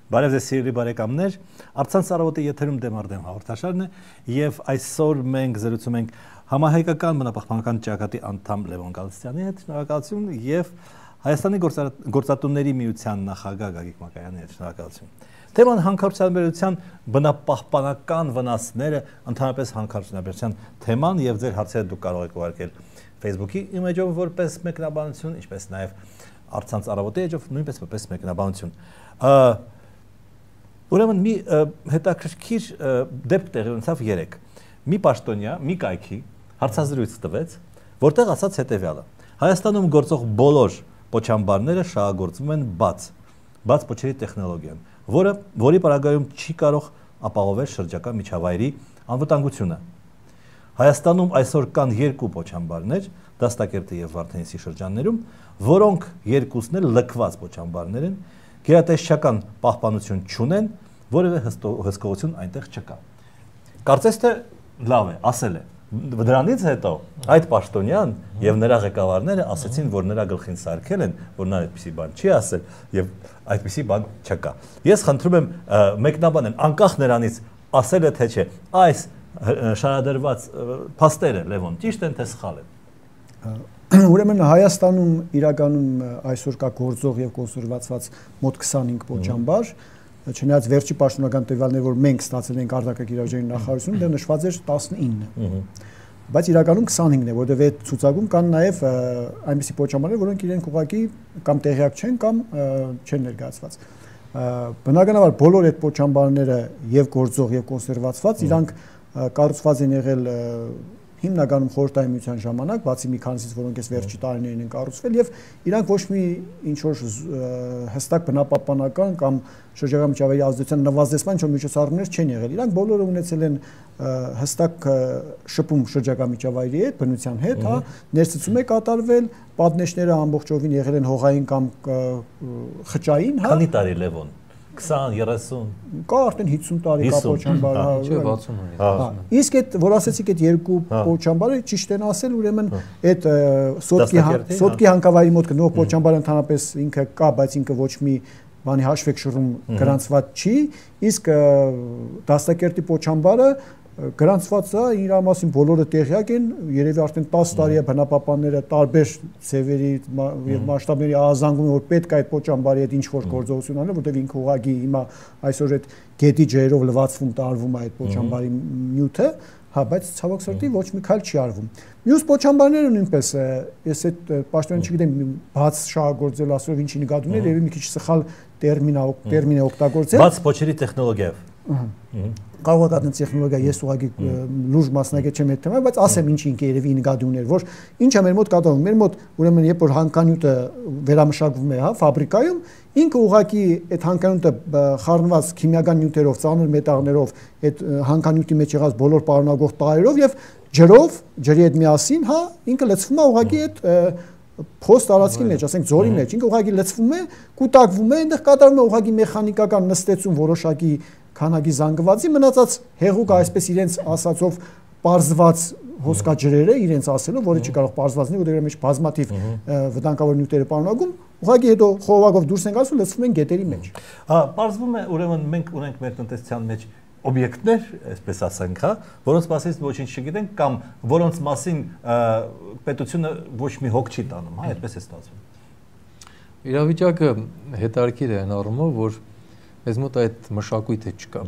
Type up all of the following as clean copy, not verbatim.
Բարև ձեզ սիրելի բարեկամներ, Առցանց առավոտի եթերում դեմ առ դեմ հաղորդաշարն է եւ այսօր մենք զրուցում ենք համահայկական բնապահպանական ճակատի անդամ Լևոն Գալստյանի հետ, շնորհակալություն, եւ Հայաստանի գործատուների միության նախագահ Գագիկ Մակայանի հետ, շնորհակալություն։ Թեման հանքարդյունաբերության բնապահպանական վնասները, ընդհանրապես հանքարդյունաբերության թեման եւ ձեր հարցերը դուք կարող եք ուղարկել Facebook-ի իմեջով որպես մեկնաբանություն, ինչպես նաեւ Առցանց առավոտի էջով նույնպես որպես մեկնաբանություն։ Ուրեմն մի հետաքրքիր դեպք տեղի ունեցավ 3։ Մի պաշտոնյա, մի կայքի հարցազրույց տվեց, որտեղ ասաց հետևյալը. Հայաստանում գործող բոլոր պոչամբարները շահագործվում են բաց պոչերի տեխնոլոգիան, որի պարագայում չի կարող ապահովել շրջակա միջավայրի անվտանգությունը։ Հայաստանում այսօր կան 2 պոչամբարներ, Դաստակերտի եւ Վարդենիսի շրջաններում, որոնք երկուսն էլ լքված պոչամբարներ են, գերատեսչական պահպանություն չունեն, որևէ հսկողություն այնտեղ չկա։ Կարծես թե լավ է, ասել է։ Դրանից հետո այդ պաշտոնյան եւ նրա ղեկավարները ասացին, որ նրա գլխին սարքել են, որ նա այդպիսի բան չի ասել եւ այդպիսի բան չկա։ Ես խնդրում եմ մեկնաբանեն անկախ նրանից ասել է թե չէ, այս շարադրված փաստերը Լևոն ճիշտ են թե սխալ են։ Ուրեմն Հայաստանում իրականում այսօր կա գործող եւ կոնսերվացված մոտ 25 պոչամբար, չնայած վերջի պաշտոնական տվյալները, որ մենք ստացել ենք արտակարգ իրավիճակի նախարարությունում, դեռ նշված էր 19։ Բայց իրականում 25-ն է, որովհետեւ այդ ցուցակում կան նաեւ այնպիսի պոչամբարներ, որոնք իրենք ուղղակի կամ տեղյակ չեն կամ չեն ներկայացված։ Բնականաբար բոլոր այդ պոչամբարները եւ գործող եւ կոնսերվացված իրանք կառուցված են եղել հիմնականում խորհրդային միության ժամանակ, բացի մի քանիսից, որոնք այս վերջի տարիներին են կառուցվել, եւ իրանք ոչ մի ինչ որ հստակ բնապահպանական կամ շրջակա միջավայրի ազդեցության նվազեցման ինչ-որ միջոցառումներ չեն եղել։ Իրանք բոլորը ունեցել են հստակ շփում շրջակա միջավայրի հետ, բնության հետ, հա, ներծծում է կատարվել, պատնեշները ամբողջովին եղել են հողային կամ խճային, հա։ Քանի տարի Լևոն 20-30 կա արդեն 50 տարի կա պոչամբար, չէ 60-ը։ Իսկ այդ որ ասեցիք այդ 2 պոչամբարը ճիշտ են ասել, ուրեմն այդ սոտկի հանքավայրի մոտ գտնող պոչամբարը ընդհանրապես ինքը կա, բայց ինքը ոչ մի բանի հաշվեք շռում գրանցված չի, իսկ Դաստակերտի պոչամբարը գրանցված է, իր մասին բոլորը տեղյակ են, երևի արդեն 10 տարի է բնապահպանները տարբեր ձևերի եւ մասշտաբների ահազանգում, որ պետք է այդ պոչամբարի հետ ինչ-որ գործողություն անել, որտեղ ինքը ուղղակի հիմա այսօր այդ գետի ջերով լվացվում տարվում է այդ պոչամբարի նյութը, հա, բայց ցավոք սրտի ոչ մի քայլ չի արվում։ Մյուս պոչամբարները նույնպես ես այդ պաշտոնը չգիտեմ բաց շահագործել ասելով ինչի նկատի ուներ, եւ մի քիչ սխալ տերմին է օգտագործել։ Բաց պոչերի տեխնոլոգիայով։ Կարող է տեխնոլոգիա, ես ուղղակի լուրջ մասնագետ չեմ այդ թեմայով, բայց ասեմ ինչ ինքը երևի նկատի ուներ, որ ինչ է մեր մոտ կատարվում։ Մեր մոտ ուրեմն երբ որ հանքանյութը վերամշակվում է, հա, ֆաբրիկայում, ինքը ուղղակի այդ հանքանյութը խառնված քիմիական նյութերով, ծանր մետաղներով, այդ հանքանյութի մեջ եղած բոլոր պարունակող տարերով եւ ջրով, ջրի հետ միասին, հա, ինքը լցվում է ուղղակի այդ փոստ տարածքի մեջ, ասենք ձորի մեջ, ինքը ուղղակի լցվում է, կուտակվում է, այնտեղ կատարվում է ուղղակի մեխանիկական նստեցում որոշակի քանակի զանգվածի, մնացած հեղուկը այսպես իրենց ասածով պարզված հոսքաջրերը իրենց ասելով, որը չի կարող պարզված լինի, որտեղ մեջ բազմաթիվ վտանգավոր նյութեր պարունակում, ուղղակի հետո խողովակով դուրս են գալիս ու լցվում են գետերի մեջ։ Հա, պարզվում է, ուրեմն մենք ունենք մեր տնտեսության մեջ օբյեկտներ, այսպես ասենք, հա, որոնց մասին ոչինչ չգիտենք կամ որոնց մասին պետությունը ոչ մի հոգ չի տանում, հա, այդպես է ստացվում։ Իրավիճակը հետաքրքիր է այն առումով, որ մեզ մոտ այդ մշակույթը չկա։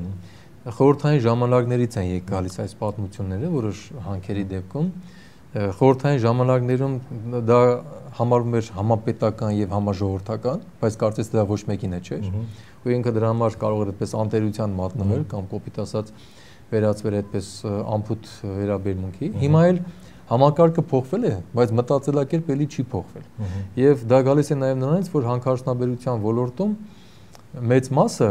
Խորհրդային ժամանակներից են եկալիս այս պատմությունները, որոշ հանքերի դեպքում խորհրդային ժամանակներում դա համարվում էր համապետական եւ համաժողովրդական, բայց կարծես դա ոչ մեկին չէր։ Ու ինքը դրա համար կարող էր այդպես անտերության մատնվել կամ կոպիտ ասած վերածվել այդպես ամփոփ վերաբերմունքի։ Հիմա էլ համակարգը փոխվել է, բայց մտածելակերպը էլի չի փոխվել։ Եվ դա գալիս է նաեւ նրանից, որ հանքարդյունաբերության ոլորտում մեծ մասը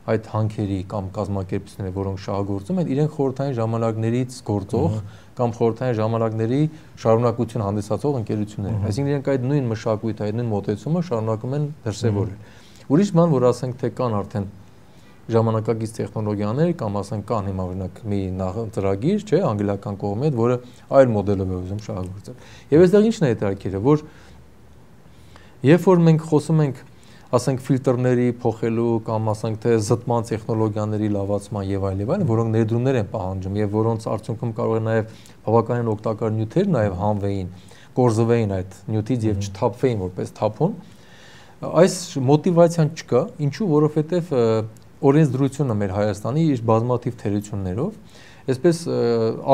այդ հանքերի կամ կազմակերպությունները, որոնք շահագործում են, իրենք խորհրդային ժամանակներից գործող կամ խորհրդային ժամանակների շարունակություն հանդիսացող ընկերություններ են։ Այսինքն իրենք այդ նույն մշակույթը, այդ նույն մոտեցումը շարունակում են դրսևորել։ Ուրիշ բան, որ ասենք թե կան արդեն ժամանակակից տեխնոլոգիաներ կամ ասենք կան հիմա օրինակ մի ծրագիր, չէ, անգլիական կողմի հետ, որը այլ մոդելով է ուզում շահագործել։ Եվ այստեղ ինչն է հետաքրքիրը, որ երբ որ մենք խոսում ենք ասենք ֆիլտրների փոխելու կամ ասենք թե զտման տեխնոլոգիաների լավացման եւ այլն, որոնք ներդրումներ են պահանջում եւ որոնց արդյունքում կարող է նաեւ բավականին օգտակար նյութեր նաեւ հանվեին, կորզվեին այդ նյութից եւ չթափվեին որպես թափոն, այս մոտիվացիան չկա, ինչու, որովհետեւ օրենսդրությունը մեր Հայաստանի իր բազմաթիվ թերություններով այսպես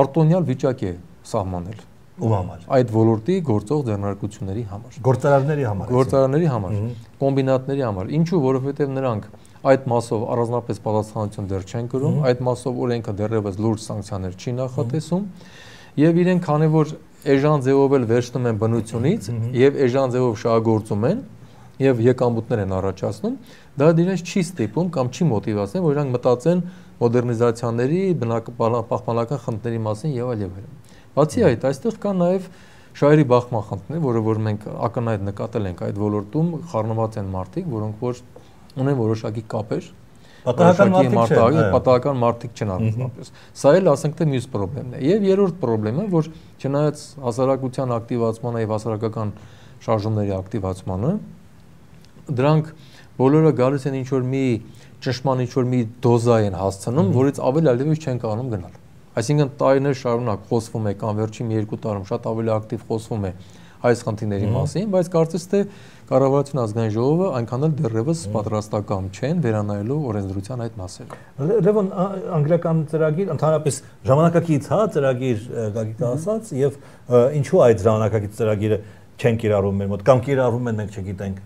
արտոնյալ վիճակ է սահմանել ում համար այդ ոլորտի գործող ձեռնարկությունների համար գործարարների համար կոմբինատների համար ինչու որովհետև նրանք այդ մասով առանձնապես պատասխանատվություն դեռ չեն կրում այդ մասով օրենքը դեռևս լուրջ սանկցիաներ չի նախատեսում եւ իրենք քանի որ էժան ձևով էլ վերցնում են բնությունից եւ էժան ձևով շահագործում են եւ եկամուտներ են առաջացնում դա դրանց չի ստիպում կամ չի մոտիվացնում որ իրանք մտածեն մոդեռնիզացիաների պահպանական խնդիրների մասին եւ այլ եւ այլն Բացի այդ, այստեղ կա նաև շահերի բախման խնդիրներ, որը որ մենք ակնհայտ նկատել ենք այդ ոլորտում խառնված են մարդիկ, որոնք որ ունեն որոշակի կապեր, պատահական մարդիկ չեն առանձնապես։ Սա էլ ասենք թե մյուս խնդիրն է։ Եվ երրորդ խնդիրը, որ չնայած հասարակության ակտիվացմանը եւ հասարակական շարժումների ակտիվացմանը, դրանք բոլորը գալիս են ինչ որ մի ճնշման ինչ որ մի դոզա են հասցնում, որից ավել այլևս չեն կարողանում գնալ։ Այսինքն տարիներ շարունակ խոսվում է կամ վերջին 2 տարում շատ ավելի ակտիվ խոսվում է այս խնդիրների մասին, բայց կարծես թե կառավարության ազգային ժողովը այնքան էլ դեռևս պատրաստական չեն վերանայելու օրենսդրության այդ մասերը։ Լևոն անգլիական ծրագիր ընդհանրապես ժամանակակից հա ծրագիր Գագիկը ասաց եւ ինչու այդ ժամանակակից ծրագիրը չեն կիրառում մեր մոտ կամ կիրառում են մենք չգիտենք։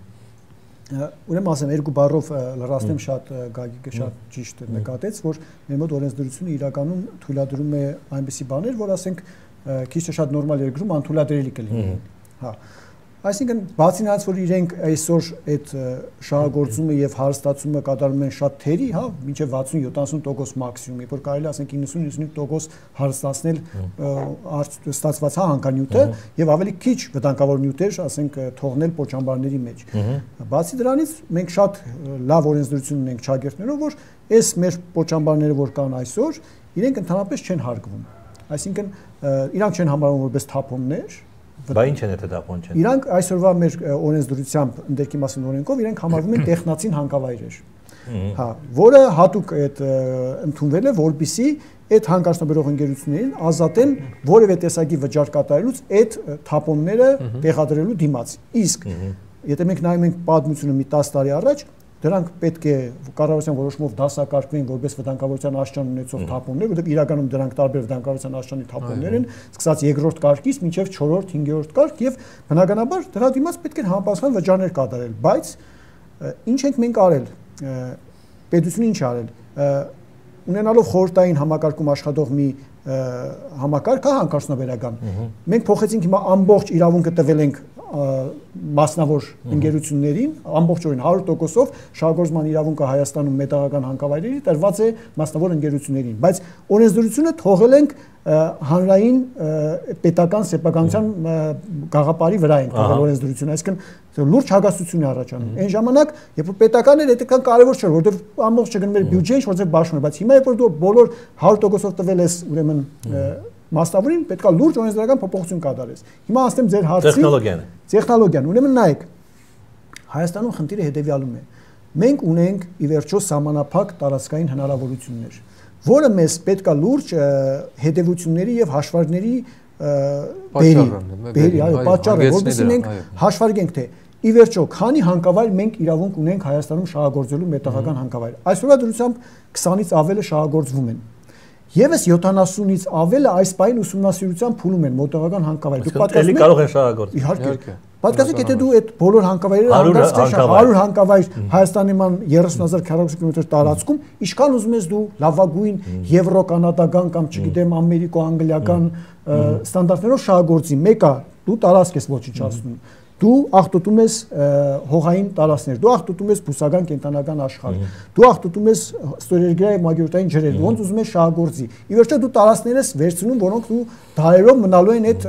Ուրեմն ասեմ երկու բառով լրացնեմ շատ Գագիկը շատ ճիշտ նկատեց որ մեր մոտ օրենսդրությունը իրականում թույլատրում է այնպիսի բաներ որ ասենք քիչ թե շատ նորմալ երկրում անթույլատրելի կլինեն հա այսինքն բացի նրանից որ իրենք այսօր այդ շահագործումը եւ հարստացումը կատարում են շատ թերի հա մինչեւ 60-70% մաքսիմում երբ որ կարելի ասենք 90-95% հարստացնել ստացված հա հանքանյութը եւ ավելի քիչ վտանգավոր նյութեր ասենք թողնել պոչամբարների մեջ բացի դրանից մենք շատ լավ օրենսդրություն ունենք ճագերտներով որ այս մեր պոչամբարները որ կան այսօր իրենք ընդհանրապես չեն հարգվում այսինքն իրանք չեն համարվում որպես թափոններ Բա ինչ են դա թափոն չեն։ Իրանք այսօրվա մեր օրենսդրությամբ ընդերքի մասին օրենքով իրանք համարվում են տեխնացին հանքավայրեր։ Հա, որը հատուկ այդ ընդունվել է, որպիսի այդ հանքարդյունաբերող ընկերություններին ազատեն որևէ տեսակի վճար կատարելուց այդ թափոնները տեղադրելու դիմաց։ Իսկ եթե մենք նայում ենք պատմությունը մի 10 տարի առաջ դրանք պետք է կառավարության որոշումով դասակարգվեն որպես վտանգավորության աշճան ունեցող թափոններ, որտեղ իրականում դրանք տարբեր վտանգավորության աշճանի թափոններ են, սկսած երկրորդ կարգից մինչև 4-րդ, 5-րդ կարգ եւ բնականաբար դրա դիմաց պետք է համապատասխան վճարներ կատարել, բայց ինչ ենք մենք արել։ Պետությունը ինչ արել։ Ունենալով խորհրդային համակարգում աշխատող մի համակարգ հա հանքարդյունաբերական։ Մենք փոխեցինք հիմա ամբողջ իրավունքը տվել ենք մասնավոր ընկերություններին ամբողջովին 100%-ով շահագործման իրավունքը Հայաստանում մետաղական հանքավայրերի տրված է մասնավոր ընկերություններին, բայց օրենսդրությունը թողել ենք հանրային պետական սեփականության գաղափարի վրա ենք թողել օրենսդրությունը, այսինքն լուրջ հագաստություն է առաջանում։ Այն ժամանակ, երբ որ պետական էր, այդքան կարևոր չէր, որովհետև ամբողջ չգնում էր բյուջեին, որտեղ բաշխում էր, բայց հիմա երբ որ դու բոլոր 100%-ով տվել ես, ուրեմն մասնավորին պետքա լուրջ օրենսդրական փոփոխություն կատարես։ Հիմա ասեմ ձեր հարցին տեխնոլոգիան, ուրեմն նայեք Հայաստանում խնդիրը հետևյալում է։ Մենք ունենք ի վերջո սահմանափակ տարածքային հնարավորություններ, որը մեզ պետքա լուրջ հետևությունների եւ հաշվարկների պատճառը, որովհետեւ մենք հաշվարկենք թե ի վերջո քանի հանքավայր մենք իրավունք ունենք Հայաստանում շահագործելու մետաղական հանքավայր։ Այսօրվա դրությամբ 20-ից ավելը շահագործվում են։ Եվս 70-ից ավելը այս պահին ուսումնասիրության փուլում են մոտողական հանքավայր։ Դուք պատկասում եք կարող են շահագործել։ Իհարկե։ Պատկասեք, եթե դու այդ բոլոր հանքավայրերը անդրադարձնես 100 հանքավայր Հայաստանի ման 30000 քկմ տարածքում, ինչքան ուզում ես դու լավագույն եվրո-կանադական կամ չգիտեմ ամերիկո-անգլիական ստանդարտներով շահագործի, մեկը դու տարածք ես ոչնչացնում։ Դու աղտոտում ես հողային տարածքներ, դու աղտոտում ես բուսական կենտրոնական աշխարհ, դու աղտոտում ես ստորերգրայի եւ մագիոտային ջրեր, ոնց ուզում ես շահագործի։ Ի վերջո դու տարածքներ ես վերցնում, որոնք դու դարերով մնալու են այդ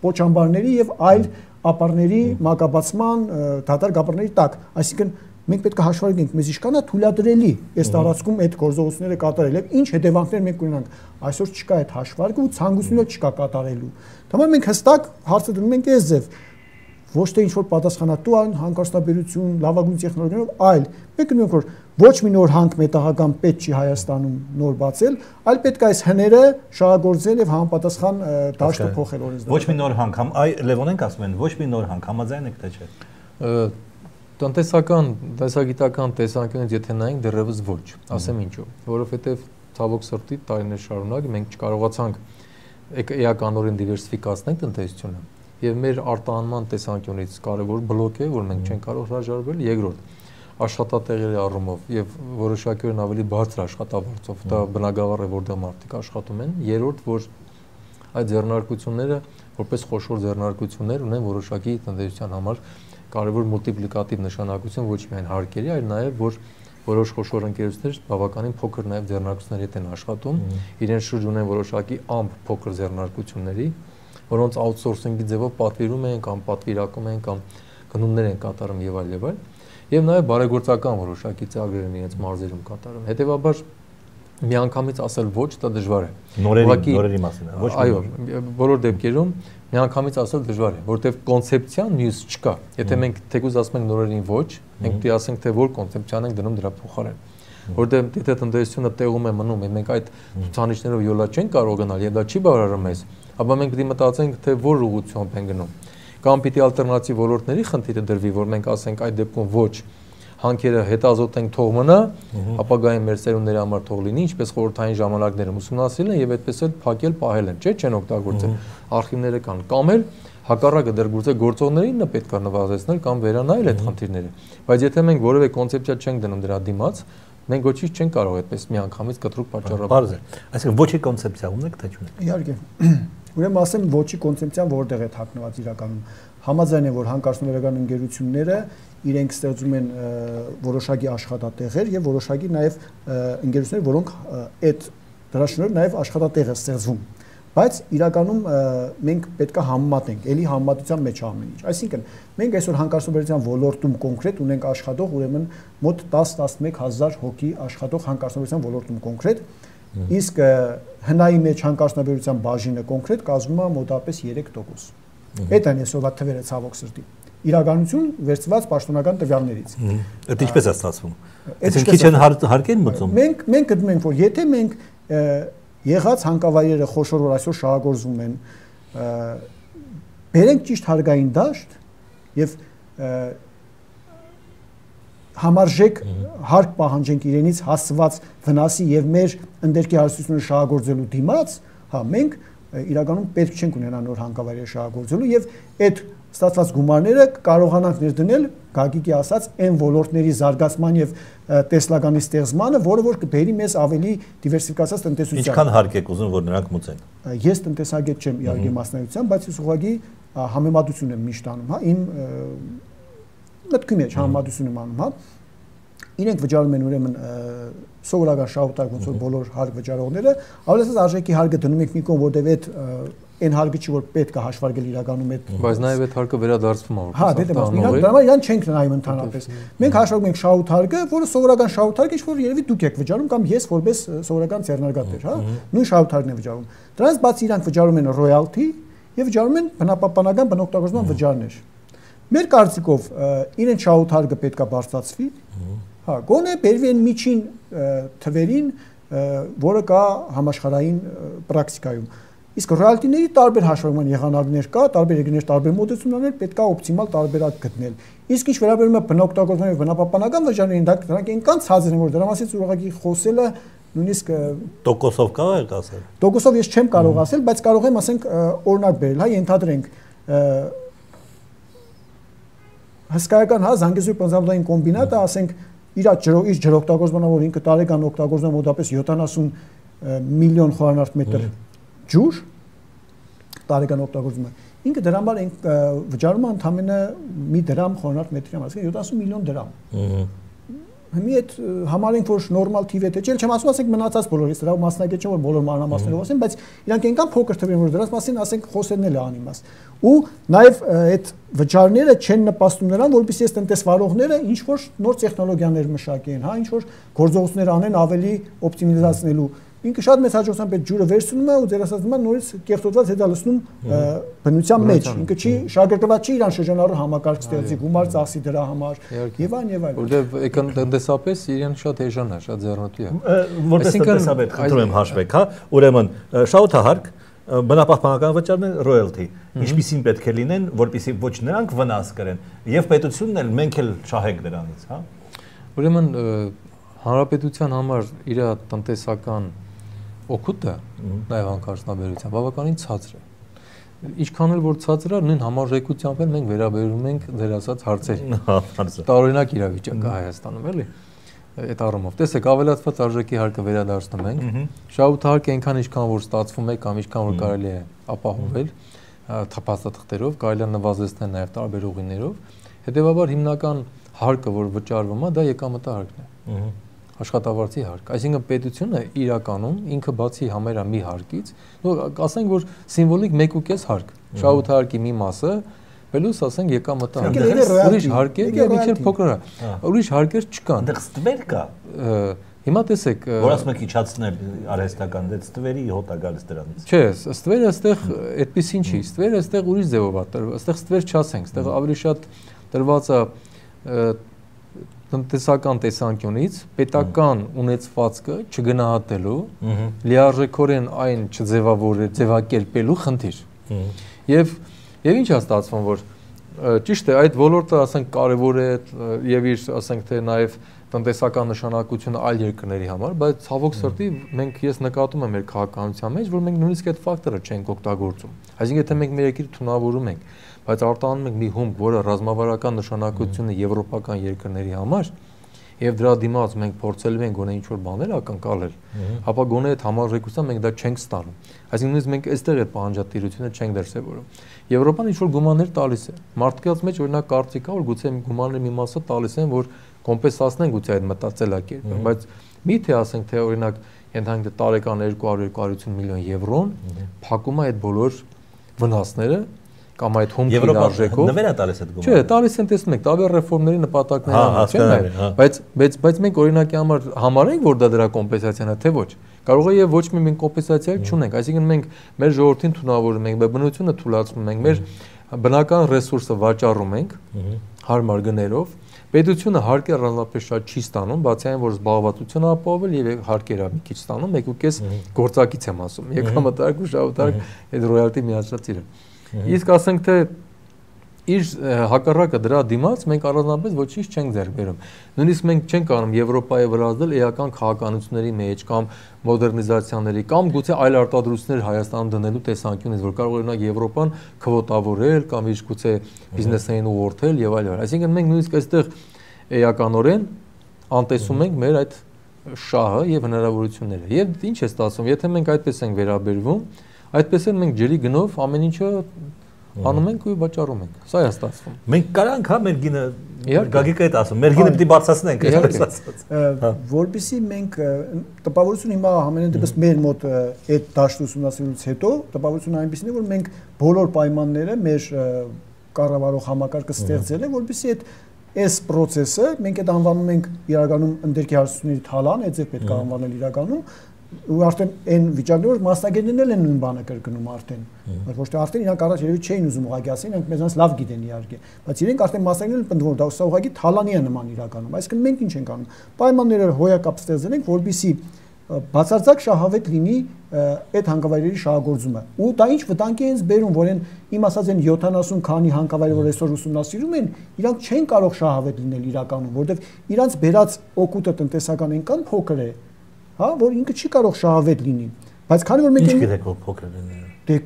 պոչամբարների եւ այլ ապարների մակաբացման դատարկ ապարների տակ։ Այսինքն մենք պետք է հաշվարկենք, մեզ ինչքան է թույլատրելի այս տարածքում այդ գործողությունները կատարել եւ ինչ հետևանքներ մենք ունենանք։ Այսօր չկա այդ հաշվարկը ու ցանկությունը չկա կատարելու։ Դե մենք հստակ հարցը դնում ենք այս ձև։ ոչ թե ինչ-որ պատասխանատու հանկարծաբերություն, լավագույն տեխնոլոգիաներով, այլ մենք գնում ենք, որ ոչ մի նոր հանք մետաղական պետք չի Հայաստանում նոր բացել, այլ պետք է այս հները շահագործել եւ համապատասխան դաշտը փոխել օրենսդրությամբ։ Ոչ մի նոր հանք, այ Լևոնենք ասում են, ոչ մի նոր հանք, համաձայն եք թե չէ։ Տնտեսական, տեսագիտական տեսանկյունից եթե նայենք դեռևս ոչ, ասեմ ինչու, որովհետեւ ցավոք սրտի տարիներ շարունակ մենք չկարողացանք էականորեն դիվերսիֆիկացնել տնտեսությունը եւ մեր արտահանման տեսանկյունից կարեւոր բլոկ է, որ մենք չենք կարող հրաժարվել, երկրորդ աշխատատեղերի առումով եւ որոշակիորեն ավելի բարձր աշխատավարձով, դա բնագավառ է, որտեղ մարդիկ աշխատում են, երրորդ որ այդ ձեռնարկությունները որպես խոշոր ձեռնարկություններ ունեն որոշակի տնտեսության համար կարևոր մուլտիպլիկատիվ նշանակություն ոչ միայն հարկերի, այլ նաեւ որ որոշ խոշոր ընկերություններ բավականին փոքր նաեւ ձեռնարկությունների հետ են աշխատում, իրենց շուրջ ունեն որոշակի ամփ փոքր ձեռնարկությունների, որոնց outsourcing-ի ձևով պատվիրում են կամ պատվիրակում են կամ գնումներ են կատարում եւ այլ եւ այլ, եւ նաեւ բարեգործական որոշակի ծրագրեր են իրենց մարզերում կատարում։ Հետեւաբար միանգամից ասել ոչ, դա դժվար է։ Նորերի մասին, ոչ մի։ Այո, բոլոր դեպքերում միանգամից ասել դժվար է, որովհետև կոնցեպցիան մյուս չկա։ Եթե մենք թեկուզ ասում ենք նորերին ոչ, մենք պետք է ասենք թե որ կոնցեպցիան ենք դնում դրա փոխարեն։ Որովհետև եթե տնտեսությունը տեղում է մնում, եւ մենք այդ ցուցանիշներով յոլա չենք կարող գնալ, եւ դա չի բավարարում մեզ, ապա մենք պետք է մտածենք թե որ ուղղությամբ ենք գնում։ Կամ պիտի ալտերնատիվ ոլորտների խնդիրը դրվի, որ մենք ասենք այդ դեպքում ոչ հանքերը հետազոտենք թող մնա, ապագայում մեր սերունդների համար թող լինի, ինչպես խորհրդային ժամանակներում ուսումնասիրել են եւ այդպես էլ փակել, պահել են, չէ՞, չեն օգտագործել, արխիվները կան, կամ էլ հակառակը դեռ գուցե գործողներին նա պետք է նվազեցնել կամ վերանայել այդ խնդիրները։ Բայց եթե մենք որևէ կոնցեպցիա չենք դնում դրա դիմաց, մենք ոչինչ չենք կարող այդպես միանգամից կտրուկ պատճառաբար։ Այսինքն ոչի կոնցեպցիա ունեք թե չունեք։ Իհարկե։ Ուրեմն ասեմ ոչի կոնցեպցիան որտեղ է թաքնված իրականում։ Համաձայն է, որ հանքարդյունաբերական ընկերությունները իրենք ստեղծում են որոշակի աշխատատեղեր եւ որոշակի նաեւ ընկերություններ, որոնք այդ դրա շնորհիվ նաեւ աշխատատեղ է ստեղծվում։ Բայց իրականում մենք պետք է համեմատենք, ելի համեմատության մեջ ամեն ինչ։ Այսինքն մենք այսօր հանքարդյունաբերության ոլորտում կոնկրետ ունենք աշխատող ուրեմն մոտ 10-11 հազար հոգի աշխատող հանքարդյունաբերության ոլորտում կոնկրետ, իսկ հնայի մեջ հանքարդյունաբերության բաժինը կոնկրետ կազմում է մոտավորապես 3%։ Այդ են այսօրվա թվերը ցավոք սրտի։ Իրականություն վերցված պաշտոնական տվյալներից։ Այդ ինչպես է ստացվում։ Այսինքն քիչ են հարկեր մտնում։ Մենք գտնում ենք, որ եթե մենք եղած հանքավայրերը խոշոր որ այսօր շահագործվում են, բերենք ճիշտ հարկային դաշտ եւ համարժեք հարկ պահանջենք իրենից հասցված վնասի եւ մեր ընդերքի հարստությունները շահագործելու դիմաց, հա մենք իրականում պետք չենք ունենա նոր հանքավայրեր շահագործելու եւ այդ ստացված գումարները կարողանանք ներդնել Գագիկի ասած այն ոլորտների զարգացման եւ տեսլականի ստեղծմանը, որը որ կբերի մեզ ավելի դիվերսիֆիկացած տնտեսության։ Ինչքան հարկ եք ուզում որ նրանք մուծեն։ Ես տնտեսագետ չեմ իհարկե մասնագիտությամբ, բայց ես ուղղակի համեմատություն եմ միշտ անում, հա, իմ մտքի մեջ համեմատություն եմ անում, հա։ Իրենք վճարում են ուրեմն սովորական շահութակ ոնց որ բոլոր հարկ վճարողները, ավելի ասած արժեքի հարկը դնում եք մի կողմ, որտեղ այդ այն հարկը չի որ պետք է հաշվարկել իրականում այդ։ Բայց նաև այդ հարկը վերադարձվում է որ։ Հա, դե դրա իրան չենք նայում ընդհանրապես։ Մենք հաշվարկում ենք շահութ հարկը, որը սովորական շահութ հարկը, ինչ որ երևի դուք եք վճարում կամ ես որպես սովորական ձեռնարկատեր, հա, նույն շահութ հարկն է վճարում։ Դրանից բացի իրանք վճարում են ռոյալթի եւ վճարում են բնապահպանական բնօգտագործման վճարներ։ Մեր կարծիքով իրեն շահութ հարկը պետք է բարձրացվի։ Հա, գոնե բերվի այն միջին թվերին, որը կա համաշխարհային պրակտիկայում։ Իսկ ռոյալտիների տարբեր հաշվարկման եղանակներ կա, տարբեր երկրներ տարբեր մոտեցումներ, պետք է օպտիմալ տարբերակ գտնել։ Իսկ ինչ վերաբերում է բնօգտագործման եւ բնապահպանական վճարներին, դրանք այնքան ցածր են, որ դրա մասին ուղղակի խոսելը նույնիսկ տոկոսով կարող եք ասել։ Տոկոսով ես չեմ կարող ասել, բայց կարող եմ ասենք օրինակ բերել, հա, ենթադրենք հսկայական հա Զանգեզուրի բնազավադային կոմբինատը, ասենք իր ջրօգտագործմանով որ ինքը տարեկան օգտագործում մոտավորապես 70 միլիոն խորանարդ մետր ջուր տարեկան օգտագործումը ինքը դրամար վճարում է ընդամենը մի դրամ խորանարդ մետրի համար, այսինքն 70 միլիոն դրամ։ Հիմի այդ համարենք որ նորմալ թիվ է, չէ՞, չեմ ասում, ասենք մնացած բոլորից, դրա մասնագետ չեմ որ բոլոր մանրամասներով ասեմ, բայց իրանք այնքան փոքր թվեր որ դրանց մասին ասենք խոսելն էլ է անիմաստ։ Ու նաև այդ վճարները չեն նպաստում նրան, որովհետեւ այս տնտեսվարողները ինչ որ նոր տեխնոլոգիաներ մշակեն, հա, ինչ որ գործողություններ անեն ավելի օպտիմիզացնելու ինքը շատ մեծ հաջողությամբ այդ ջուրը վերցնում է ու ձեր ասած նորից կեղտոտված հետա լցնում բնության մեջ։ Ինքը չի շարժկրված չի իրան շրջանառու համակարգ ստեղծի, գումար ծախսի դրա համար եւ այլն։ Որտեւ տնտեսապես իրեն շատ էժան է, շատ ձեռնտու է։ Որպես տնտեսաբեդ խնդրում եմ հաշվեք, հա, ուրեմն շահութահարկ բնապահպանական վճարն է royalty, ինչպիսին պետք է լինեն, որպեսզի ոչ նրանք վնաս կրեն, եւ պետությունն էլ մենք էլ շահենք դրանից, հա։ Ուրեմն հանրապետության համար իր տնտեսական օգուտը նաեւ հանքարդյունաբերության բավականին ցածր է։ Ինչքան էլ որ ցածր է, նույն համարժեքությամբ էլ մենք վերաբերում ենք ձեր ասած հարցերին։ Տարօրինակ իրավիճակ է Հայաստանում, էլի։ Այդ առումով տեսեք ավելացված արժեքի հարկը վերադարձնում ենք շահութահարկը այնքան ինչքան որ ստացվում է կամ ինչքան որ կարելի է ապահովել թափաստաթղթերով կարելի է նվազեցնել նաև տարբեր ուղիներով հետեւաբար հիմնական հարկը որ վճարվում է դա եկամտահարկն է աշխատավարձի հարկ այսինքն պետությունը իրականում ինքը բացի համերա մի հարկից ասենք որ սիմվոլիկ 1.5 հարկ շահութահարկի մի մասը Պելուս ասենք եկամտահարկ ուրիշ հարկեր եւ իջեր փոքր է ուրիշ հարկեր չկան այնտեղ ստվեր կա հիմա տեսեք որ ասում եք իջացնել արհեստական դե ստվերի հոտա գալիս դրանից չէ ստվերը այստեղ այդպեսին չի ստվերը այստեղ ուրիշ ձևով է այստեղ ստվեր չասենք այստեղ ավելի շատ տրված է տնտեսական տեսանկյունից պետական ունեցվածքը չգնահատելու լիարժեքորեն այն չձևակերպելու խնդիր Եվ ինչ է ստացվում որ ճիշտ է այդ ոլորտը ասենք կարևոր է եւ իր ասենք թե նաեւ տնտեսական նշանակությունը այլ երկրների համար բայց ցավոք սրտի մենք ես նկատում եմ մեր քաղաքականության մեջ որ մենք նույնիսկ այդ ֆակտորը չենք օգտագործում այսինքն եթե մենք մեր երկիրը թունավորում ենք բայց արտանում ենք մի հումք որը ռազմավարական նշանակություն է եվրոպական երկրների համար Եվ դրա դիմաց մենք փորձելու ենք գոնե ինչ-որ բաներ ակնկալել, ապա գոնե այդ համարժեքությամբ մենք դա չենք ստանում։ Այսինքն նույնիսկ մենք այստեղ այդ պահանջատիրությունը չենք դրսևորում։ Եվրոպան ինչ-որ գումարներ տալիս է։ Մարդկանց մեջ օրինակ կարծիք կա, որ գուցե գումարների մի մասը տալիս են, որ կոմպենսացնեն գուցե այդ մտածելակերպը, բայց միթե ասենք թե օրինակ ենթանք տարեկան 200-250 միլիոն եվրոն փակում է այդ բոլոր վնասները կամ այդ հումքի արժեքով նվեր է տալիս այդ գումարը։ Չէ, տալիս են տեսնում եք, տարբեր ռեֆորմների նպատակների համար, չէ՞, բայց մենք օրինակի համար համարենք, որ դա դրա կոմպենսացիան է, թե ոչ։ Կարող է եւ ոչ մի մենք կոմպենսացիա չունենք, այսինքն մենք մեր ժողովրդին թունավորում ենք, մեր բնությունը թուլացնում ենք, մեր բնական ռեսուրսը վաճառում ենք հարմար գներով։ Պետությունը հարկեր առանձնապես շատ չի ստանում, բացի այն որ զբաղվածությունը ապահովել եւ հարկերը մի քիչ ստանում, 1.5 գործակից եմ ասում, եկամտահարկ ու շահութահարկ այդ ռոյալտի միացրածիրը։ Իսկ ասենք թե իր հակառակը դրա դիմաց մենք առանձնապես ոչինչ չենք ձեռք բերում։ Նույնիսկ մենք չենք կարող Եվրոպայի վրա ազդել էական քաղաքականությունների մեջ կամ մոդեռնիզացիաների կամ գուցե այլ արտադրություններ Հայաստանում դնելու տեսանկյունից, որ կարող օրինակ Եվրոպան քվոտավորել կամ իր գուցե բիզնեսային ուղղորդել եւ այլն։ Այսինքն մենք նույնիսկ այստեղ էականորեն անտեսում ենք մեր այդ շահը եւ հնարավորությունները։ Եվ ինչ է ստացվում, եթե մենք այդպես ենք վերաբերվում, այդպես էլ մենք ջրի գնով ամեն ինչը անում ենք ու վաճառում ենք։ Սա է ստացվում։ Մենք կարանք հա մեր գինը Գագիկը այդ ասում, մեր գինը պիտի բարձրացնենք, այսպես ասած։ Որպեսզի մենք տպավորություն հիմա ամենայն դեպս մեր մոտ այդ դաշտ ուսումնասիրությունից հետո տպավորությունը այնպեսին է, որ մենք բոլոր պայմանները մեր կառավարող համակարգը ստեղծել է, որպեսզի այս process-ը մենք այդ անվանում ենք իրականում ընդերքի հարցությունների թալան, այդ ձև պետք է անվանել իրականում ու արդեն այն վիճակները որ մասնագետներն են նույն բանը կրկնում արդեն ոչ թե արդեն իրանք առաջ երևի չէին ուզում ուղղակի ասեն իրանք մեզանից լավ գիտեն իհարկե բայց իրենք արդեն մասնագետներն են պնդում որ դա ուղղակի թալանի է նման իրականում այսինքն մենք ինչ ենք անում պայմանները հոյակապ ստեղծել ենք որպեսզի բացարձակ շահավետ լինի այդ հանքավայրերի շահագործումը ու դա ինչ վտանգ է հենց բերում որ իմ ասած են 70 քանի հանքավայր որ այսօր ուսումնասիրում են իրանք չեն կարող շահավետ լինել իրականում որովհետև իրանք բերած օգուտը տնտեսական այնքան փոքր է հա որ ինքը չի կարող շահավետ լինի բայց քանի որ մենք ինչ գիտեք որ փոքր է դե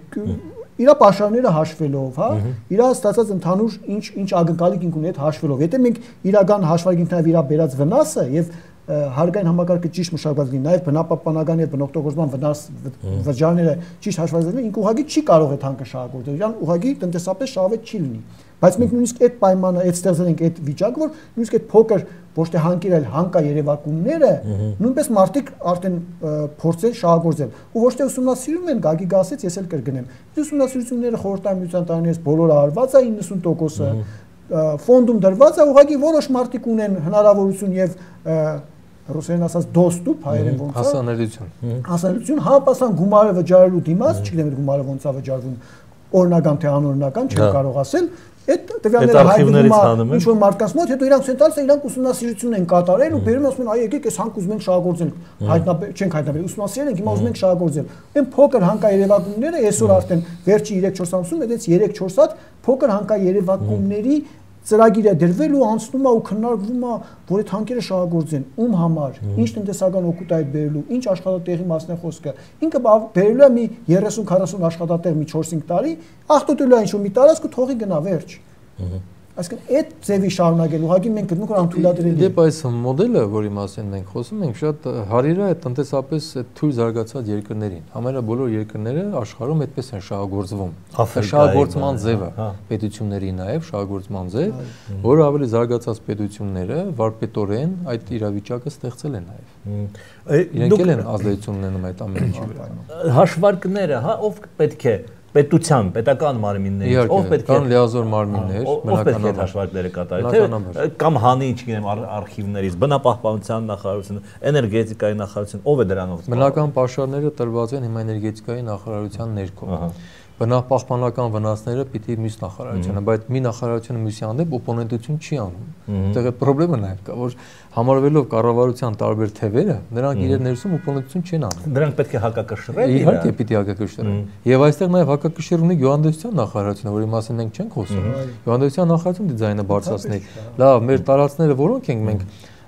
իր պաշարները հաշվելով հա իր ստացած ընդհանուր ինչ ակնկալիք ունի այդ հաշվելով եթե մենք իրական հաշվարկենք նաև իր բերած վնասը եւ հարկային համակարգը ճիշտ մշակված լինի նաև բնապահպանական եւ բնօգտագործման վնաս վճարները ճիշտ հաշվարկել ինքը ուղղակի չի կարող այդ հանքը շահագործել իրան ուղղակի տնտեսապես շահավետ չի լինի բայց մենք նույնիսկ այդ պայմանը այդ ստեղծել ենք այդ վիճակը որ նույնիսկ այդ փոքր ոչ թե հանքեր այլ հանկա երևակումները նույնպես մարդիկ արդեն փորձեն շահագործել ու ոչ թե ուսումնասիրում են գագի գասից ես էլ կրկնեմ ուսումնասիրությունները խորհրդային տարիներից բոլորը արված է 90%-ը ֆոնդում դրված է ուղղակի որոշ մարդիկ ունեն հնարավորություն եւ ռուսերեն ասած դոստուպ, հայերեն ոնց է հասանելիություն, համապատասխան գումարը վճարելու դիմաց, չգիտեմ այդ գումարը ոնց է վճարվում, օրինական թե անօրինական, չեմ կարող ասել, այդ տվյալները հայտնվում է ինչ որ մարդկանց մոտ, հետո իրանք ցենտրալից իրանք ուսումնասիրություն են կատարել ու բերում ասում են, այ եկեք, այս հանք ուզում ենք շահագործել, չենք հայտնաբերել, ուսումնասիրել ենք, հիմա ուզում ենք շահագործել։ Այն փոքր հանկաերևակումները այսօր արդեն վերջի 3-4 ամսում այդպես 3-4 հատ փոքր հանկաերևակումների ծրագիրը դրվել ու անցնում է ու քննարկվում է, որ այդ հանքերը շահագործեն, ում համար, ինչ տնտեսական օգուտ այդ բերելու, ինչ աշխատատեղի մասն է խոսքը։ Ինքը բերելու է մի 30-40 աշխատատեղ մի 4-5 տարի, ախտոտելու է ինչ-որ մի տարածք ու թողի գնա վերջ։ Այսինքն այդ ձևի շարունակել ուղղակի մենք գտնում ենք որ անթույլատրելի է։ Դեպ այս մոդելը, որի մասին մենք խոսում ենք, շատ հարիր է տնտեսապես թույլ զարգացած երկրներին։ Համարյա բոլոր երկրները աշխարհում այդպես են շահագործվում։ Շահագործման ձևը պետությունների նաև շահագործման ձև, որը ավելի զարգացած պետությունները վարպետորեն այդ իրավիճակը ստեղծել են նաև։ Իրենք են ազդեցություն ունենում այդ ամեն ինչի վրա։ Հաշվարկները, հա, ով պետք է պետության, պետական մարմիններից, ով պետք է կան լիազոր մարմիններ, բնականաբար հաշվարկները կատարել, թե կամ հանի, չգիտեմ, արխիվներից, բնապահպանության նախարարությունը, էներգետիկայի նախարարությունը, ով է դրանով։ Բնական պաշարները տրված են հիմա էներգետիկայի նախարարության ներքո։ Բնապահպանական վնասները պիտի մյուս նախարարությունը, բայց մի նախարարությունը մյուսի հանդեպ օպոնենտություն չի անում։ Այդտեղ այդ խնդրեմը նաև կա, որ համարվելով կառավարության տարբեր թևերը, նրանք իրար ներսում օպոնենտություն չեն անում։ Դրանք պետք է հակակշռեն։ Իհարկե պիտի հակակշռեն։ Եվ այստեղ նաև հակակշիռ ունի գյուղատնտեսության նախարարությունը, որի մասին մենք չենք խոսում։ Գյուղատնտեսության նախարարությունը դիզայնը բարձրացնի։ Լավ, մեր տարածքները որոնք ենք մենք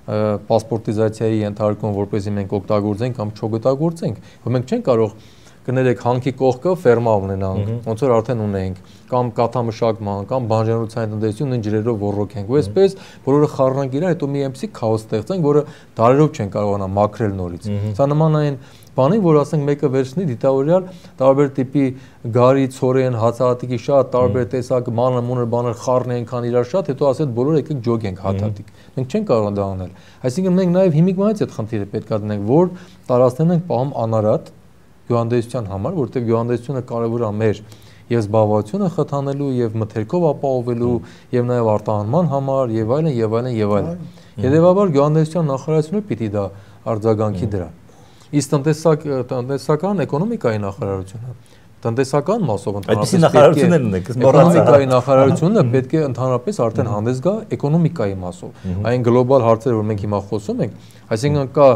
պասպորտիզացիայի ենթարկում, որպեսզի մենք օգտագործենք կամ չօգտագործենք, որ մենք չենք կարող կներեք հանքի կողքը ֆերմա ունենանք, ոնց որ արդեն ունենք, կամ կաթամշակման, կամ բանջարության տնտեսություն նույն ջրերով ոռոգենք, ու այսպես բոլորը խառնանք իրար, հետո մի էմսի քաոս ստեղծենք, որը դարերով չեն կարողանա մաքրել նորից։ Սա նման այն բանի, որ ասենք մեկը վերցնի դիտավորյալ տարբեր տիպի գարի, ցորեն, հացահատիկի շատ տարբեր տեսակ մանր-մունր բաներ խառնի այնքան իրար շատ, հետո ասել բոլորը եկեք ջոգենք հացահատիկ։ Մենք չենք կարող դա անել։ Այսինքն մենք նաև հիմիկվանից այդ խնդիրը պետք է դնենք, որ տարածքներն ենք պահում անարատ գյուղատնտեսության համար, որտեղ գյուղատնտեսությունը կարևոր է մեր եւ զբաղվածությունը խթանելու եւ մթերքով ապահովելու եւ նաեւ արտահանման համար եւ այլն եւ այլն եւ այլն։ Հետևաբար գյուղատնտեսության նախարարությունը պիտի դա արձագանքի դրա։ Իսկ տնտեսական էկոնոմիկայի նախարարությունը տնտեսական մասով այդպիսի նախարարություններ ունենք, էկոնոմիկայի նախարարությունը պետք է ընդհանրապես արդեն հանդես գա էկոնոմիկայի մասով։ Այն գլոբալ հարցերը, որ մենք հիմա խոսում ենք, այսինքն կա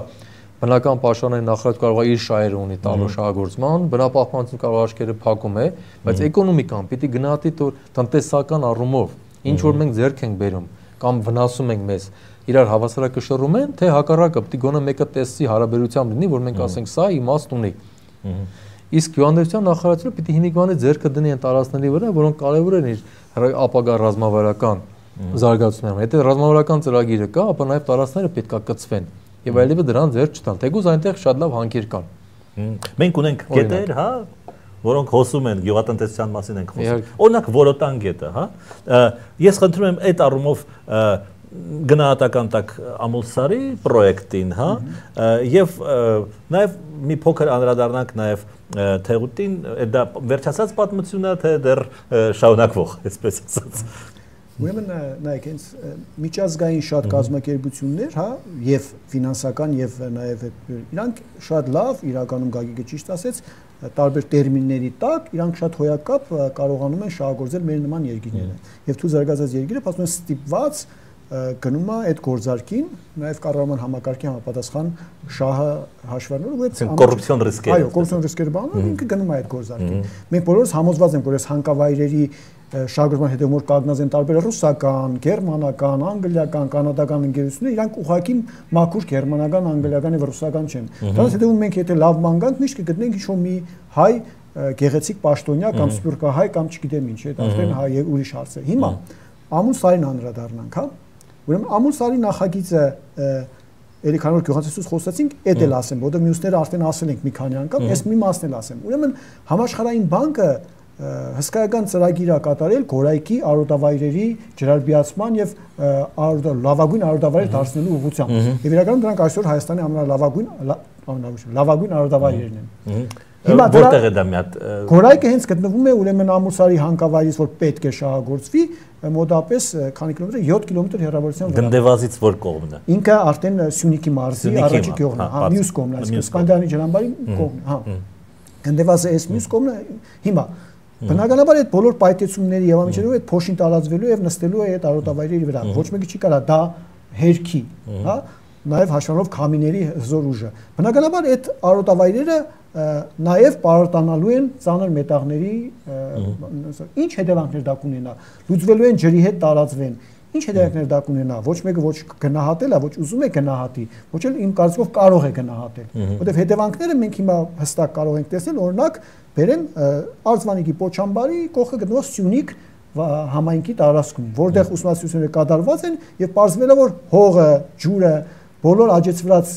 բնական պաշարների նախարարությունը կարող է իր շահերը ունի տալու շահագործման, բնապահպանությունը կարող աչքերը փակում է, բայց էկոնոմիկան պիտի գնահատի տնտեսական առումով, ինչ որ մենք ձեռք ենք բերում կամ վնասում ենք մեզ, իրար հավասարակշռում են, թե հակառակը պիտի գոնե մեկը տեսի հարաբերությամբ լինի, որ մենք ասենք սա իմաստ ունի։ Իսկ գյուղատնտեսության նախարարությունը պիտի հիմիկվանի ձեռքը դնի այն տարածքների վրա, որոնք կարևոր են իր ապագա ռազմավարական զարգացումները։ Եթե ռազմավարական ծրագիրը կա, ապա նաև տարածքները պետք է կծվեն։ Եվ այլևս դրան ձեռք չտան, թեկուզ այնտեղ շատ լավ հանքեր կան։ Մենք ունենք գետեր, հա, որոնք հոսում են գյուղատնտեսության մասին ենք խոսում։ Օրինակ Որոտան գետը, հա։ Ես խնդրում եմ այդ առումով գնահատական տակ Ամուլսարի պրոյեկտին, հա, եւ նաեւ մի փոքր անդրադառնանք նաեւ Թեղուտին, դա վերջացած պատմությունն է, թե դեռ շարունակվող, այսպես ասած։ Ուրեմն նայեք, հենց միջազգային շատ կազմակերպություններ, հա, եւ ֆինանսական եւ նաեւ իրանք շատ լավ իրականում Գագիկը ճիշտ ասեց, տարբեր տերմինների տակ իրանք շատ հոյակապ կարողանում են շահագործել մեր նման երկիրները։ Եվ թույլ զարգացած երկիրը ասում են ստիպված գնում է այդ գործարքին, նաեւ կառավարման համակարգի համապատասխան շահը հաշվառնելով ու այդ կոռուպցիոն ռիսկեր։ Այո, կոռուպցիոն ռիսկեր բանը ինքը գնում է այդ գործարքին։ Մենք բոլորս համոզված ենք, որ այս հանկավայրերի շահագրգռման հետևում որ կանգնած են տարբեր ռուսական, գերմանական, անգլիական, կանադական ընկերություններ, իրանք ուղղակի մաքուր գերմանական, անգլիական եւ ռուսական չեն։ Դրանց հետևում մենք եթե լավ ման գանք, միշտ կգտնենք ինչ-որ մի հայ գեղեցիկ պաշտոնյա կամ սփյուռքահայ կամ չգիտեմ ինչ, այդ արդեն հայ եւ ուրիշ հարց է։ Հիմա Ամուլսարին անդրադառնանք, հա։ Ուրեմն Ամուլսարի նախագիծը Էլի քանի որ գյուղատնտեսությունից խոսացինք, էդ էլ ասեմ, որովհետեւ մյուսները արդեն ասել ենք մի քանի անգամ, ես մի մասն էլ ասեմ։ Ուրեմն Համաշխարհային բանկը հսկայական ծրագիր է կատարել Գորայքի արոտավայրերի ջրարգելացման եւ լավագույն արոտավայր դարձնելու ուղղությամբ։ Եվ իրականում դրանք այսօր Հայաստանի ամենալավագույն արոտավայրերն են։ Որտեղ է դա մի հատ Գորայքը հենց գտնվում է ուրեմն Ամուրսարի հանգավայրից, որ պետք է շահագործվի, մոտապես քանի կիլոմետր 7 կիլոմետր հեռավորության վրա։ Գնդեվազից որ կողմն է։ Ինքը արդեն Սյունիքի մարզի առաջի գյուղն է, հա, մյուս կողմն է, այսինքն Սկանդինավի ջրամբարի կողմն է, հա։ Գնդեվազը էս մյուս կողմն է։ Հիմա բնականաբար այդ բոլոր պայթեցումների եւ ամենջերով այդ փոշին տարածվելու եւ նստելու է այդ արոտավայրերի վրա։ Ոչ մեկը չի կարա դա հերքի, հա, նաեւ հաշվանով քամիների հզոր ուժը։ Բնականաբար այդ արոտավայրերը նաև պարարտանալու են ծանր մետաղների ինչ հետևանքներ դա կունենա, լուծվելու են ջրի հետ տարածվեն, ինչ հետևանքներ դա կունենա, ոչ մեկը ոչ գնահատել է, ոչ ուզում է գնահատի, ոչ էլ իմ կարծիքով կարող է գնահատել, որովհետև հետևանքները մենք հիմա հստակ կարող ենք տեսնել, օրինակ բերեմ Արձվանիկի Պոչամբարի կողքը գտնվող Սյունիք համայնքի տարածքում, որտեղ ուսումնասիրությունները կատարված են եւ պարզվել է, որ հողը, ջուրը, բոլոր աճեցված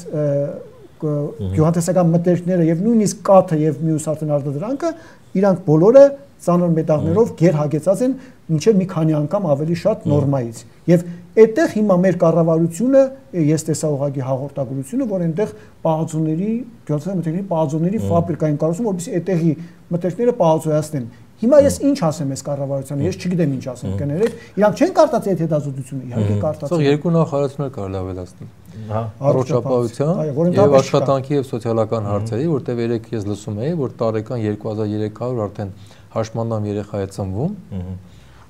գյուղատնտեսական մթերքները եւ նույնիսկ կաթը եւ մյուս արտադրանքը իրանք բոլորը ծանր մետաղներով գերհագեցած են մինչեւ մի քանի անգամ ավելի շատ նորմայից եւ այդտեղ հիմա մեր կառավարությունը ես տեսա ուղղակի հաղորդագրությունը որ այնտեղ պահածոների գյուղատնտեսական մթերքների պահածոների ֆաբրիկային կառուցում որովհետեւ այդտեղի մթերքները պահածոյացնեն հիմա ես ինչ ասեմ այս կառավարությանը ես չգիտեմ ինչ ասեմ կներեք իրանք չեն կարտացել այդ հետազոտությունը իհարկե կարտացել երկու նախարարություններ կարելի ավելացնել առողջապահության եւ աշխատանքի եւ սոցիալական հարցերի, որտեղ երեք ես լսում էի, որ տարեկան 2300 արդեն հաշմանդամ երեխա է ծնվում։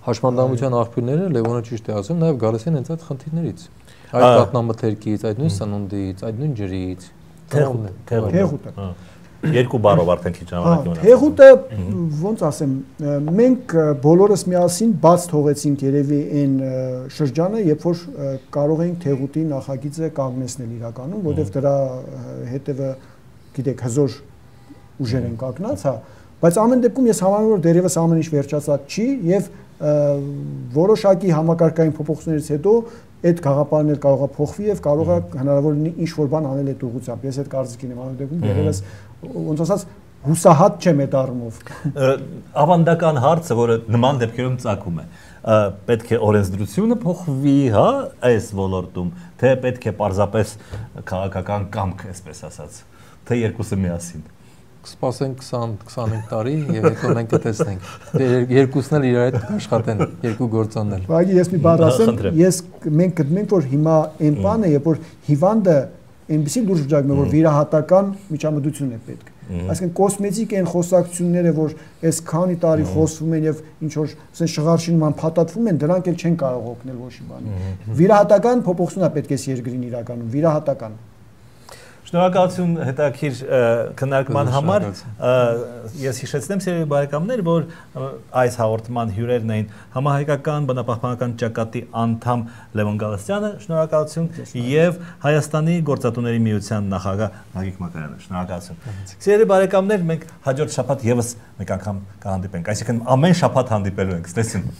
Հաշմանդամության աղբյուրները Լևոնը ճիշտ է ասում, նաեւ գալիս են հենց այդ խնդիրներից։ Այդ կատնամթերքից, այդ նույն սնունդից, այդ նույն ջրից, թեղուտը։ Երկու բառով արդեն քիչ ժամանակ ունենք։ Թեղուտը ոնց ասեմ, մենք բոլորս միասին բաց թողեցինք երևի այն շրջանը, երբ որ կարող էինք թեղուտի նախագիծը կանգնեցնել իրականում, որովհետև դրա հետևը, գիտեք, հզոր ուժեր են կանգնած, հա, բայց ամեն դեպքում ես համարում որ դերևս ամեն ինչ վերջացած չի եւ որոշակի համակարգային փոփոխություններից հետո այդ գաղափարն էլ կարող է փոխվի եւ կարող է հնարավոր լինի ինչ որ բան անել այդ ուղղությամբ։ Ես այդ կարծիքին եմ անում դեպքում դերևս ոնց ասած հուսահատ չեմ այդ առումով։ Ավանդական հարցը, որը նման դեպքերում ծագում է, պետք է օրենսդրությունը փոխվի, հա, այս ոլորտում, թե պետք է պարզապես քաղաքական կամք, այսպես ասած, թե երկուսը միասին։ Կսպասենք 20-25 տարի եւ հետո մենք կտեսնենք։ Երկուսն էլ իրար հետ կաշխատեն, երկու գործոններ։ Բայց ես մի բառ ասեմ, մենք գտնենք որ հիմա այն բանը, երբ որ հիվանդը այնպեսի լուրջ վիճակում է, որ վիրահատական միջամտություն է պետք։ Այսինքն կոսմետիկ են խոսակցությունները, որ այս քանի տարի խոսվում են եւ ինչ որ ասեն շղարշինման փաթաթվում են, դրանք էլ չեն կարող օգնել ոչ մի բանի։ Վիրահատական փոփոխություն է պետք է երկրին իրականում, վիրահատական։ Շնորհակալություն հետաքրքիր քննարկման համար։ Ես հիշեցնեմ սիրելի բարեկամներ, որ այս հաղորդման հյուրերն էին համահայկական բնապահպանական ճակատի անդամ Լևոն Գալստյանը, շնորհակալություն, եւ Հայաստանի գործատուների միության նախագահ Գագիկ Մակարյանը, շնորհակալություն։ Սիրելի բարեկամներ, մենք հաջորդ շաբաթ եւս մեկ անգամ կհանդիպենք, այսինքն ամեն շաբաթ հանդիպելու ենք, ստեսին։